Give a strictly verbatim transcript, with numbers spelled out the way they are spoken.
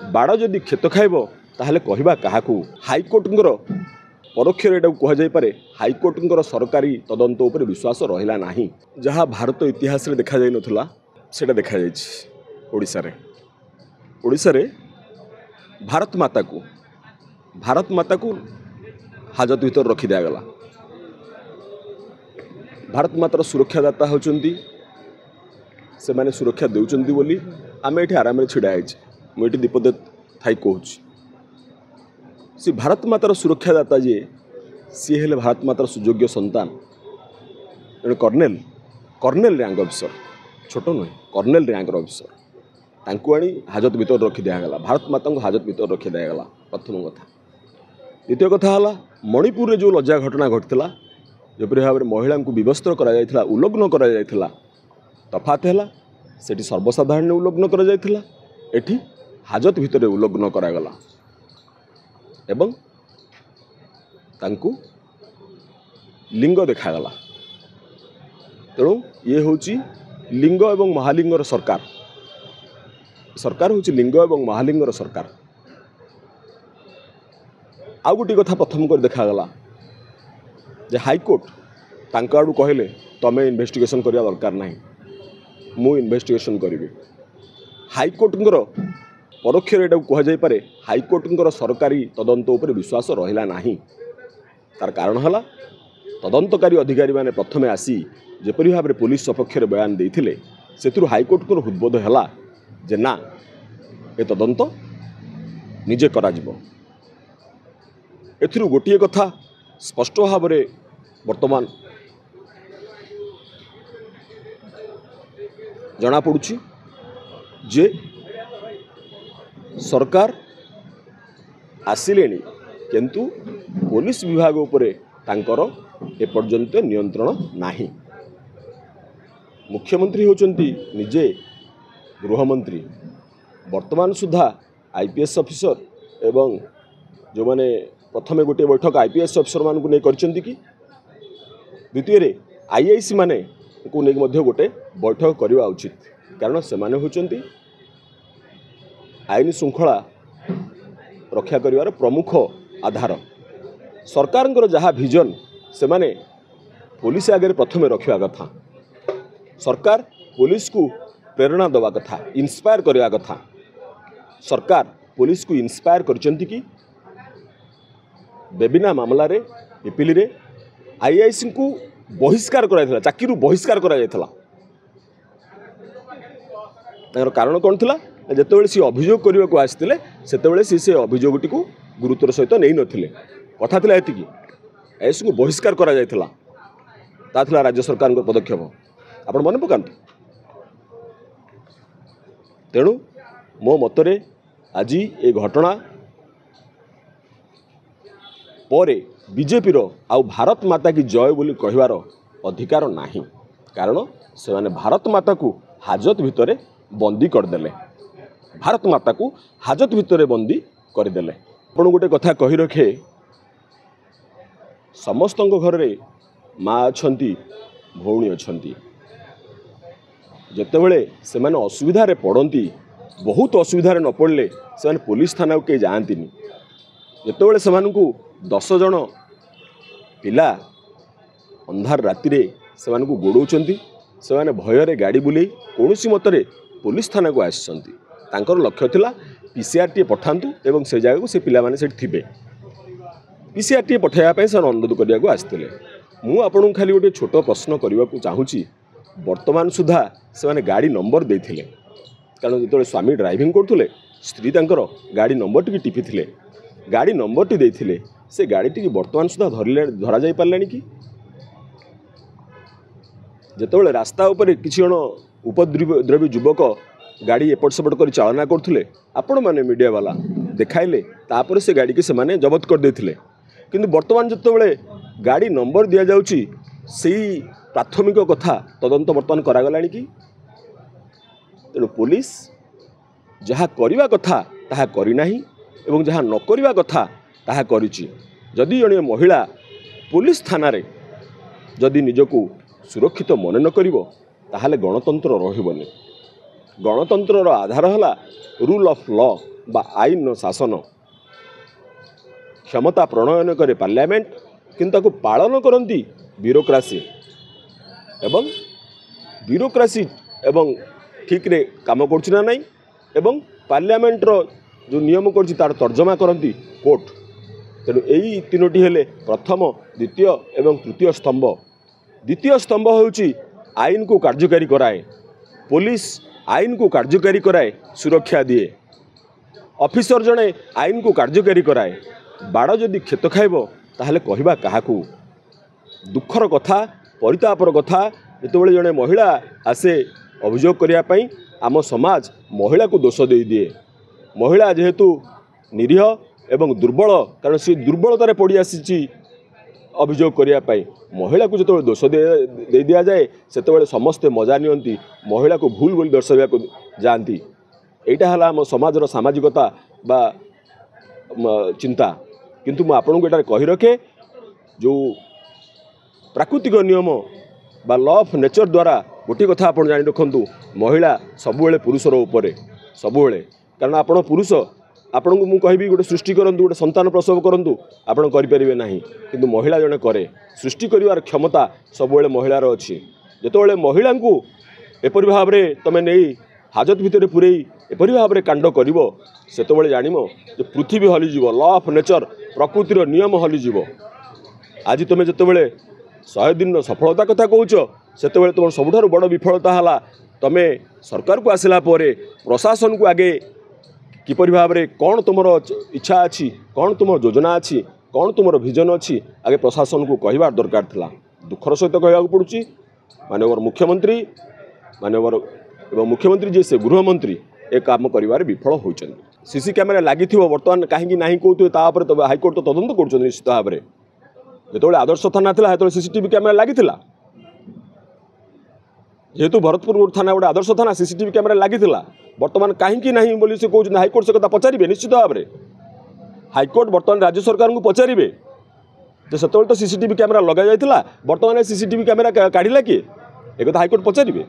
ବାଡ଼ ଯଦି କ୍ଷେତ ଖାଇବ ତାହେଲେ କହିବା କାହାକୁ? ହାଇକୋର୍ଟଙ୍କର ପରୋକ୍ଷରେ ଏଟାକୁ କୁହାଯାଇପାରେ, ହାଇକୋର୍ଟଙ୍କର ସରକାରୀ ତଦନ୍ତ ଉପରେ ବିଶ୍ୱାସ ରହିଲା ନାହିଁ। ଯାହା ଭାରତ ଇତିହାସରେ ଦେଖାଯାଇନଥିଲା ସେଇଟା ଦେଖାଯାଇଛି ଓଡ଼ିଶାରେ। ଓଡ଼ିଶାରେ ଭାରତ ମାତାକୁ ଭାରତ ମାତାକୁ ହାଜତ ଭିତରେ ରଖି ଦିଆଗଲା। ଭାରତ ମାତାର ସୁରକ୍ଷାଦାତା ହେଉଛନ୍ତି ସେମାନେ, ସୁରକ୍ଷା ଦେଉଛନ୍ତି ବୋଲି ଆମେ ଏଠି ଆରାମରେ ଛିଡ଼ା ହେଇଛେ। ମୁଁ ଏଠି ଦୀପଦ ଥାଇ କହୁଛି, ସେ ଭାରତ ମାତାର ସୁରକ୍ଷାଦାତା ଯିଏ, ସିଏ ହେଲେ ଭାରତ ମାତାର ସୁଯୋଗ୍ୟ ସନ୍ତାନ। ଜଣେ କର୍ଣ୍ଣେଲ, କର୍ଣ୍ଣେଲ ର୍ୟାଙ୍କ ଅଫିସର, ଛୋଟ ନୁହେଁ, କର୍ଣ୍ଣେଲ ର୍ୟାଙ୍କର ଅଫିସର, ତାଙ୍କୁ ଆଣି ହାଜତ ଭିତରେ ରଖି ଦିଆଗଲା। ଭାରତ ମାତାଙ୍କୁ ହାଜତ ଭିତରେ ରଖି ଦିଆଗଲା, ପ୍ରଥମ କଥା। ଦ୍ୱିତୀୟ କଥା ହେଲା, ମଣିପୁରରେ ଯେଉଁ ଲଜ୍ଜା ଘଟଣା ଘଟିଥିଲା, ଯେପରି ଭାବରେ ମହିଳାଙ୍କୁ ବିବସ୍ତ୍ର କରାଯାଇଥିଲା, ଉଲଗ୍ନ କରାଯାଇଥିଲା, ତଫାତ ହେଲା ସେଠି ସର୍ବସାଧାରଣରେ ଉଲଗ୍ନ କରାଯାଇଥିଲା, ଏଠି ହାଜତ ଭିତରେ ଉଲଗ୍ନ କରାଗଲା ଏବଂ ତାଙ୍କୁ ଲିଙ୍ଗ ଦେଖାଗଲା। ତେଣୁ ଇଏ ହେଉଛି ଲିଙ୍ଗ ଏବଂ ମହାଲିଙ୍ଗର ସରକାର। ସରକାର ହେଉଛି ଲିଙ୍ଗ ଏବଂ ମହାଲିଙ୍ଗର ସରକାର। ଆଉ ଗୋଟିଏ କଥା ପ୍ରଥମ କରି ଦେଖାଗଲା ଯେ ହାଇକୋର୍ଟ ତାଙ୍କ ଆଡ଼ୁ କହିଲେ, ତମେ ଇନଭେଷ୍ଟିଗେସନ୍ କରିବା ଦରକାର ନାହିଁ, ମୁଁ ଇନଭେଷ୍ଟିଗେସନ୍ କରିବି। ହାଇକୋର୍ଟଙ୍କର ପରୋକ୍ଷରେ ଏଟାକୁ କୁହାଯାଇପାରେ, ହାଇକୋର୍ଟଙ୍କର ସରକାରୀ ତଦନ୍ତ ଉପରେ ବିଶ୍ୱାସ ରହିଲା ନାହିଁ। ତାର କାରଣ ହେଲା, ତଦନ୍ତକାରୀ ଅଧିକାରୀମାନେ ପ୍ରଥମେ ଆସି ଯେପରି ଭାବରେ ପୋଲିସ ସପକ୍ଷରେ ବୟାନ ଦେଇଥିଲେ, ସେଥିରୁ ହାଇକୋର୍ଟଙ୍କର ହୃଦବୋଧ ହେଲା ଯେ ନା, ଏ ତଦନ୍ତ ନିଜେ କରାଯିବ। ଏଥିରୁ ଗୋଟିଏ କଥା ସ୍ପଷ୍ଟ ଭାବରେ ବର୍ତ୍ତମାନ ଜଣାପଡ଼ୁଛି ଯେ ସରକାର ଆସିଲେଣି, କିନ୍ତୁ ପୋଲିସ ବିଭାଗ ଉପରେ ତାଙ୍କର ଏପର୍ଯ୍ୟନ୍ତ ନିୟନ୍ତ୍ରଣ ନାହିଁ। ମୁଖ୍ୟମନ୍ତ୍ରୀ ହେଉଛନ୍ତି ନିଜେ ଗୃହମନ୍ତ୍ରୀ। ବର୍ତ୍ତମାନ ସୁଦ୍ଧା I P S officer ଏବଂ ଯେଉଁମାନେ ପ୍ରଥମେ ଗୋଟିଏ ବୈଠକ I P S ଅଫିସରମାନଙ୍କୁ ନେଇ କରିଛନ୍ତି କି, ଦ୍ୱିତୀୟରେ I I C ମାନଙ୍କୁ ନେଇକି ମଧ୍ୟ ଗୋଟେ ବୈଠକ କରିବା ଉଚିତ, କାରଣ ସେମାନେ ହେଉଛନ୍ତି ଆଇନ ଶୃଙ୍ଖଳା ରକ୍ଷା କରିବାର ପ୍ରମୁଖ ଆଧାର। ସରକାରଙ୍କର ଯାହା ଭିଜନ ସେମାନେ ପୋଲିସ ଆଗରେ ପ୍ରଥମେ ରଖିବା କଥା। ସରକାର ପୋଲିସକୁ ପ୍ରେରଣା ଦେବା କଥା, ଇନ୍ସପାୟାର କରିବା କଥା। ସରକାର ପୋଲିସକୁ ଇନ୍ସପାୟାର କରିଛନ୍ତି କି? ବେବିନା ମାମଲାରେ ପିପିଲିରେ ଆଇଆଇସିଙ୍କୁ ବହିଷ୍କାର କରାଯାଇଥିଲା, ଚାକିରିରୁ ବହିଷ୍କାର କରାଯାଇଥିଲା। ତାଙ୍କର କାରଣ କ'ଣ ଥିଲା? ଯେତେବେଳେ ସିଏ ଅଭିଯୋଗ କରିବାକୁ ଆସିଥିଲେ, ସେତେବେଳେ ସିଏ ସେ ଅଭିଯୋଗଟିକୁ ଗୁରୁତ୍ୱର ସହିତ ନେଇନଥିଲେ। କଥା ଥିଲା ଏତିକି, ଆଇଆଇସିଙ୍କୁ ବହିଷ୍କାର କରାଯାଇଥିଲା। ତା ଥିଲା ରାଜ୍ୟ ସରକାରଙ୍କ ପଦକ୍ଷେପ, ଆପଣ ମନେ ପକାନ୍ତୁ। ତେଣୁ ମୋ ମତରେ ଆଜି ଏ ଘଟଣା ପରେ ବିଜେପିର ଆଉ ଭାରତ ମାତା କି ଜୟ ବୋଲି କହିବାର ଅଧିକାର ନାହିଁ, କାରଣ ସେମାନେ ଭାରତ ମାତାକୁ ହାଜତ ଭିତରେ ବନ୍ଦୀ କରିଦେଲେ। ଭାରତ ମାତାକୁ ହାଜତ ଭିତରେ ବନ୍ଦୀ କରିଦେଲେ। ଆପଣ ଗୋଟେ କଥା କହି ରଖେ, ସମସ୍ତଙ୍କ ଘରରେ ମା ଅଛନ୍ତି, ଭଉଣୀ ଅଛନ୍ତି। ଯେତେବେଳେ ସେମାନେ ଅସୁବିଧାରେ ପଡ଼ନ୍ତି, ବହୁତ ଅସୁବିଧାରେ ନ ପଡ଼ିଲେ ସେମାନେ ପୋଲିସ ଥାନାକୁ କେହି ଯାଆନ୍ତିନି। ଯେତେବେଳେ ସେମାନଙ୍କୁ ଦଶ ଜଣ ପିଲା ଅନ୍ଧାର ରାତିରେ ସେମାନଙ୍କୁ ଗୋଡ଼ଉଛନ୍ତି, ସେମାନେ ଭୟରେ ଗାଡ଼ି ବୁଲେଇ କୌଣସି ମତରେ ପୋଲିସ ଥାନାକୁ ଆସିଛନ୍ତି। ତାଙ୍କର ଲକ୍ଷ୍ୟ ଥିଲା ପି ସି ଆର୍ ଟିଏ ପଠାନ୍ତୁ ଏବଂ ସେ ଜାଗାକୁ ସେ ପିଲାମାନେ ସେଠି ଥିବେ। ପି ସି ଆର୍ ଟିଏ ପଠାଇବା ପାଇଁ ସେମାନେ ଅନୁରୋଧ କରିବାକୁ ଆସିଥିଲେ। ମୁଁ ଆପଣଙ୍କୁ ଖାଲି ଗୋଟିଏ ଛୋଟ ପ୍ରଶ୍ନ କରିବାକୁ ଚାହୁଁଛି। ବର୍ତ୍ତମାନ ସୁଦ୍ଧା ସେମାନେ ଗାଡ଼ି ନମ୍ବର ଦେଇଥିଲେ, କାରଣ ଯେତେବେଳେ ସ୍ୱାମୀ ଡ୍ରାଇଭିଂ କରୁଥିଲେ ସ୍ତ୍ରୀ ତାଙ୍କର ଗାଡ଼ି ନମ୍ବରଟିକି ଟିପିଥିଲେ, ଗାଡ଼ି ନମ୍ବରଟି ଦେଇଥିଲେ। ସେ ଗାଡ଼ିଟିକି ବର୍ତ୍ତମାନ ସୁଦ୍ଧା ଧରିଲେ ଧରାଯାଇ ପାରିଲାଣି କି? ଯେତେବେଳେ ରାସ୍ତା ଉପରେ କିଛି ଜଣ ଉପଦ୍ରବୀ ଯୁବକ ଗାଡ଼ି ଏପଟ ସେପଟ କରି ଚାଳନା କରୁଥିଲେ, ଆପଣମାନେ ମିଡ଼ିଆବାଲା ଦେଖାଇଲେ, ତାପରେ ସେ ଗାଡ଼ିକି ସେମାନେ ଜବତ କରିଦେଇଥିଲେ। କିନ୍ତୁ ବର୍ତ୍ତମାନ ଯେତେବେଳେ ଗାଡ଼ି ନମ୍ବର ଦିଆଯାଉଛି, ସେଇ ପ୍ରାଥମିକ କଥା ତଦନ୍ତ ବର୍ତ୍ତମାନ କରାଗଲାଣି କି? ତେଣୁ ପୋଲିସ ଯାହା କରିବା କଥା ତାହା କରିନାହିଁ ଏବଂ ଯାହା ନ କରିବା କଥା ତାହା କରିଛି। ଯଦି ଜଣେ ମହିଳା ପୋଲିସ ଥାନାରେ ଯଦି ନିଜକୁ ସୁରକ୍ଷିତ ମନେ ନ କରିବ, ତାହେଲେ ଗଣତନ୍ତ୍ର ରହିବନି। ଗଣତନ୍ତ୍ରର ଆଧାର ହେଲା ରୁଲ୍ ଅଫ୍ ଲ ବା ଆଇନର ଶାସନ। କ୍ଷମତା ପ୍ରଣୟନ କରେ ପାର୍ଲାମେଣ୍ଟ, କିନ୍ତୁ ତାକୁ ପାଳନ କରନ୍ତି ବ୍ୟୁରୋକ୍ରାସି, ଏବଂ ବ୍ୟୁରୋକ୍ରାସି ଏବଂ ଠିକ୍ରେ କାମ କରୁଛି ନା ନାହିଁ ଏବଂ ପାର୍ଲାମେଣ୍ଟର ଯେଉଁ ନିୟମ କରୁଛି ତାର ତର୍ଜମା କରନ୍ତି କୋର୍ଟ। ତେଣୁ ଏଇ ତିନୋଟି ହେଲେ ପ୍ରଥମ, ଦ୍ୱିତୀୟ ଏବଂ ତୃତୀୟ ସ୍ତମ୍ଭ। ଦ୍ୱିତୀୟ ସ୍ତମ୍ଭ ହେଉଛି ଆଇନକୁ କାର୍ଯ୍ୟକାରୀ କରାଏ। ପୋଲିସ ଆଇନକୁ କାର୍ଯ୍ୟକାରୀ କରାଏ, ସୁରକ୍ଷା ଦିଏ। ଅଫିସର ଜଣେ ଆଇନକୁ କାର୍ଯ୍ୟକାରୀ କରାଏ। ବାଡ଼ ଯଦି କ୍ଷତ ଖାଇବ ତାହେଲେ କହିବା କାହାକୁ? ଦୁଃଖର କଥା, ପରିତାପର କଥା, ଯେତେବେଳେ ଜଣେ ମହିଳା ଆସେ ଅଭିଯୋଗ କରିବା ପାଇଁ, ଆମ ସମାଜ ମହିଳାକୁ ଦୋଷ ଦେଇଦିଏ। ମହିଳା ଯେହେତୁ ନିରୀହ ଏବଂ ଦୁର୍ବଳ, କାରଣ ସେ ଦୁର୍ବଳତାରେ ପଡ଼ି ଆସିଛି ଅଭିଯୋଗ କରିବା ପାଇଁ, ମହିଳାକୁ ଯେତେବେଳେ ଦୋଷ ଦେଇ ଦିଆଯାଏ ସେତେବେଳେ ସମସ୍ତେ ମଜା ନିଅନ୍ତି, ମହିଳାକୁ ଭୁଲ ବୋଲି ଦର୍ଶାଇବାକୁ ଯାଆନ୍ତି। ଏଇଟା ହେଲା ଆମ ସମାଜର ସାମାଜିକତା ବା ଚିନ୍ତା। କିନ୍ତୁ ମୁଁ ଆପଣଙ୍କୁ ଏଠାରେ କହି ରଖେ, ଯେଉଁ ପ୍ରାକୃତିକ ନିୟମ ବା ଲ ଅଫ୍ ନେଚର୍ ଦ୍ୱାରା ଗୋଟିଏ କଥା ଆପଣ ଜାଣି ରଖନ୍ତୁ, ମହିଳା ସବୁବେଳେ ପୁରୁଷର ଉପରେ, ସବୁବେଳେ। କାରଣ ଆପଣ ପୁରୁଷ, ଆପଣଙ୍କୁ ମୁଁ କହିବି ଗୋଟେ ସୃଷ୍ଟି କରନ୍ତୁ, ଗୋଟେ ସନ୍ତାନ ପ୍ରସବ କରନ୍ତୁ, ଆପଣ କରିପାରିବେ ନାହିଁ। କିନ୍ତୁ ମହିଳା ଜଣେ କରେ। ସୃଷ୍ଟି କରିବାର କ୍ଷମତା ସବୁବେଳେ ମହିଳାର ଅଛି। ଯେତେବେଳେ ମହିଳାଙ୍କୁ ଏପରି ଭାବରେ ତୁମେ ନେଇ ହାଜତ ଭିତରେ ପୂରେଇ ଏପରି ଭାବରେ କାଣ୍ଡ କରିବ, ସେତେବେଳେ ଜାଣିବ ଯେ ପୃଥିବୀ ହଲିଯିବ, ଲ ଅଫ୍ ନେଚର୍, ପ୍ରକୃତିର ନିୟମ ହଲିଯିବ। ଆଜି ତୁମେ ଯେତେବେଳେ ଶହେ ଦିନର ସଫଳତା କଥା କହୁଛ, ସେତେବେଳେ ତୁମର ସବୁଠାରୁ ବଡ଼ ବିଫଳତା ହେଲା ତୁମେ ସରକାରକୁ ଆସିଲା ପରେ ପ୍ରଶାସନକୁ ଆଗେ କିପରି ଭାବରେ କ'ଣ ତୁମର ଇଚ୍ଛା ଅଛି, କ'ଣ ତୁମର ଯୋଜନା ଅଛି, କ'ଣ ତୁମର ଭିଜନ ଅଛି, ଆଗେ ପ୍ରଶାସନକୁ କହିବା ଦରକାର ଥିଲା। ଦୁଃଖର ସହିତ କହିବାକୁ ପଡ଼ୁଛି, ମାନ୍ୟବର ମୁଖ୍ୟମନ୍ତ୍ରୀ, ମାନ୍ୟବର ଏବଂ ମୁଖ୍ୟମନ୍ତ୍ରୀ ଯିଏ ସେ ଗୃହମନ୍ତ୍ରୀ ଏ କାମ କରିବାରେ ବିଫଳ ହୋଇଛନ୍ତି। ସିସି କ୍ୟାମେରା ଲାଗିଥିବ, ବର୍ତ୍ତମାନ କାହିଁକି ନାହିଁ କହୁଥିବେ, ତା ଉପରେ ତ ହାଇକୋର୍ଟ ତ ତଦନ୍ତ କରୁଛନ୍ତି ନିଶ୍ଚିତ ଭାବରେ। ଯେତେବେଳେ ଆଦର୍ଶ ଥାନା ଥିଲା ସେତେବେଳେ ସିସିଟିଭି କ୍ୟାମେରା ଲାଗିଥିଲା। ଯେହେତୁ ଭରତପୁର ଥାନା ଗୋଟେ ଆଦର୍ଶ ଥାନା, ସିସିଟିଭି କ୍ୟାମେରା ଲାଗିଥିଲା, ବର୍ତ୍ତମାନ କାହିଁକି ନାହିଁ ବୋଲି ସେ କହୁଛନ୍ତି। ହାଇକୋର୍ଟ ସେ କଥା ପଚାରିବେ ନିଶ୍ଚିତ ଭାବରେ। ହାଇକୋର୍ଟ ବର୍ତ୍ତମାନ ରାଜ୍ୟ ସରକାରଙ୍କୁ ପଚାରିବେ ଯେ ସେତେବେଳେ ତ ସିସିଟିଭି କ୍ୟାମେରା ଲଗାଯାଇଥିଲା, ବର୍ତ୍ତମାନ ଏ ସିସିଟିଭି କ୍ୟାମେରା କାଢ଼ିଲା କିଏ? ଏକଥା ହାଇକୋର୍ଟ ପଚାରିବେ।